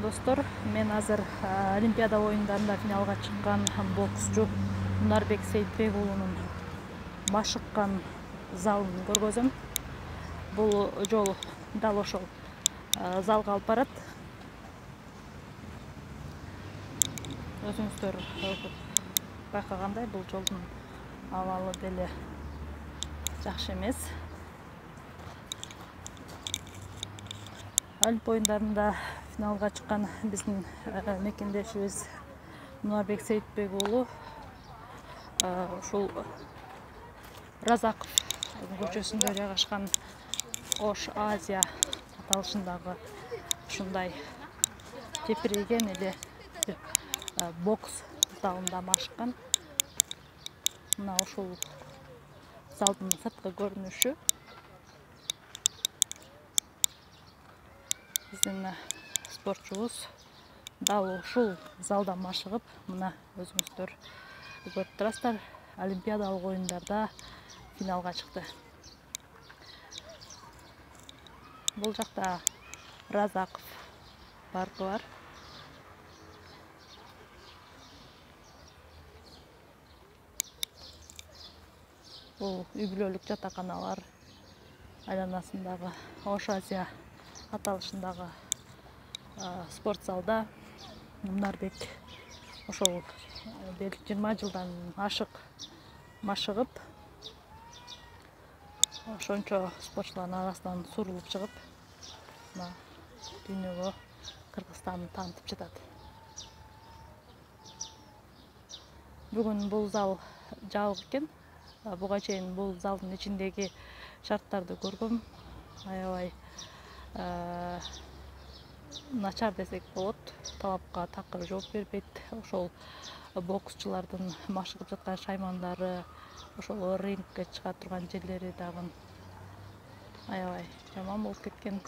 Достор, мен азыр Олимпиада оюндарында финалга чыккан боксчу Мунарбек Сейитбек уулунун машыккан залын көргөзөм. Бул жол дал ошол залга алып барат. Өзүңүздөр байкагандай, бул жолдун абалы деле жакшы эмес. Олимп оюндарында финалга чыккан биздин мекендешибиз Мунарбек Сейитбек уулу ушул Разаков көчөсүндө жайгашкан Ош Азия аталышындагы ушундай тепирейген эле бокс залында машыккан. Мына ушул залдын сырткы көрүнүшү. Биздин спортчубуз дал ушул залда машыгып, мына өзүңүздөр көрүп турасыздар, Олимпиадалык оюндарда финалга чыкты. Бул жакта Разаков паркы бар. Бул үй-бүлөлүк жатаканалар айланасындагы Ош Азия аталышындагы спорт залда Мунарбек ошол 20 жылдан ашык машыгып, ошончо спортчулардын арасынан сурулуп чыгып, мына дүйнөгө Кыргызстанды таанытып жатат. Бүгүн бул зал жабык экен. Буга чейин бул залдын ичиндеги шарттарды көргөм. Аябай начар десек болот. Талапка такыр жооп бербейт. Ошол боксчулардын машыгып жаткан шаймандары, ошол рингке чыга турган жерлери дагы аябай жаман болуп кеткен.